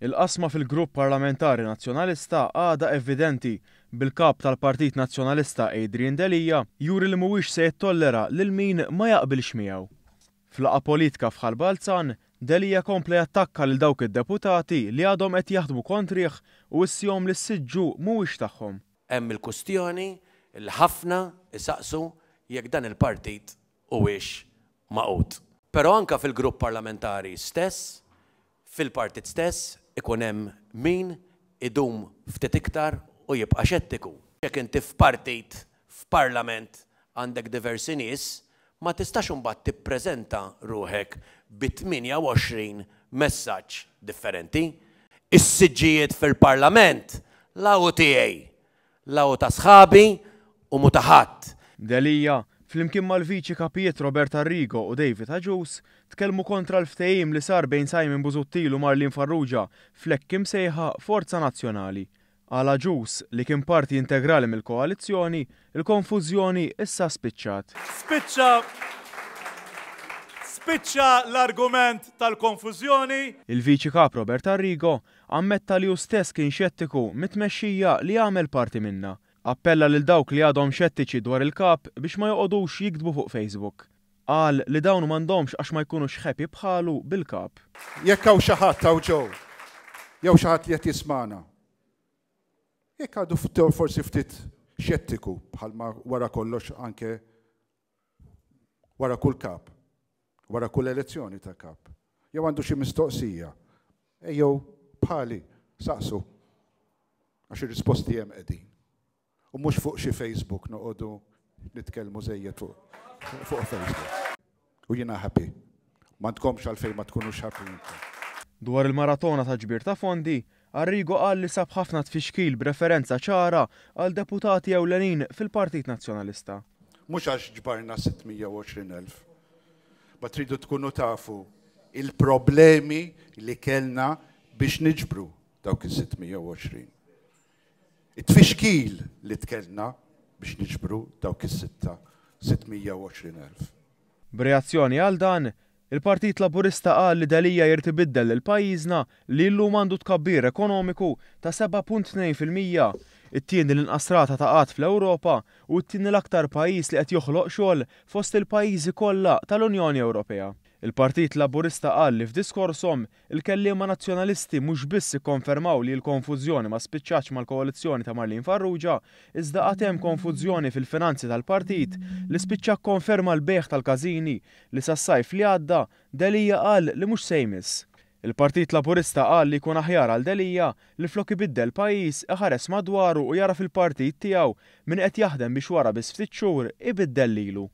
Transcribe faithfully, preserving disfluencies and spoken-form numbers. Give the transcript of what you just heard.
Il-qasma fil-grupp parlamentari Nazzjonalista għadha evidenti, bil-kap tal-Partit Nazzjonalista Adrian Delia juri li mhuwiex se jittollera lil min ma jaqbilx miegħu. F'laqgħa politika f'Ħal Balzan, Delia kompla jattakka lil dawk id-deputati li għadhom qed jaħdmu kontrih u wissihom li s-siġġu mhuwiex tagħhom. Hemm il-kustjoni li ħafna isaqsu jekk dan il-partit huwiex magħqud. Però anke fil-grupp parlamentari stess, fil-partit stess, ikun hemm min idum ftit iktar u jibqa' xettiku. Jekk inti f'partit, f'parlament għandek diversi nies, ma tistax imbagħad tippreżenta ruħek bi tmienja u għoxrin messaġġ differenti. Is-siġġijiet fil-parlament la hu tiegħi, la hu ta' sħabi u mhu ta' ħadd. Delia, flimkien mal-viċi kapijiet Robert Arrigo u David Agius, tkellmu kontra l-ftehim li sar bejn Simon Busuttil u Marlene Farrugia fl-hekk imsejħa Forza Nazzjonali. Għal Agius, li kien parti integrali mill-koalizzjoni, il-konfużjoni issa spiċċat. Spiċċa Spiċċa l-argument tal-konfużjoni. Il-viċi kap Robert Arrigo ammetta li hu stess kien xettiku mit-tmexxija li għamel parti minnha. Appella lil dawk li għadhom xettiċi dwar il-kap biex ma joqogħdux jiktbu fuq Facebook. Qal li dawn m'għandhomx għax ma jkunux happy bħalu bil-kap. Jekk hawn xi ħadd hawn ġew, jew xi ħadd li qed jismana, jekk għadu forsi ftit xettiku, bħalma wara kollox anke wara kull kap, wara kull elezzjoni ta' kap, jew għandu xi mistoqsija, ejjew bħali saqsu, għax ir-risposti hemm qegħdin. U mhux fuq xi Facebook noqogħdu nitkellmu żejjed fuq fuq Facebook. U jiena happy. M'għandkomx għalfejn ma tkunux happy intom. Dwar il-maratona ta' ġbir ta' fondi, Arrigo qal li sab ħafna tfixkil b'referenza ċara għal deputati ewlenin fil-Partit Nazzjonalista. Mhux għax ġbarna sitt mija u għoxrin elf. Ma tridu tkunu tafu il-problemi li kellna biex niġbru dawk is-sitt mija u għoxrin. It-tfixkil li kellna biex niġbru dawk is-sitta sitt mija u għoxrin elf. B'reazzjoni għal dan, il-Partit Laburista qal li Delia jrid ibiddel lil pajjiżna li llum għandu tkabbir ekonomiku ta' seba' punt tnejn fil-mija, it-tieni l-inqas rata ta' qgħad fl-Ewropa u t-tieni l-aktar pajjiż li qed joħloq xogħol fost il-pajjiżi kollha tal-Unjoni Ewropea. Il-Partit Laburista qal li f'diskorshom il-kelliema nazzjonalisti mhux biss ikkonfermaw li l-konfużjoni ma spiċċatx mal-koalizzjoni ta' Marlene Farrugia, iżda għad hemm konfużjoni fil-finanzi tal-partit li spiċċa konferma l-bejgħ tal-każini li sas-sajf li għadda Delia qal li mhux se jmiss. Il-Partit Laburista qal li jkun aħjar għal Delia li flok ibiddel pajjiż iħares madwaru u jara fil-partit tiegħu min qed jaħdem biex wara biss ftit xhur ibiddel lilu.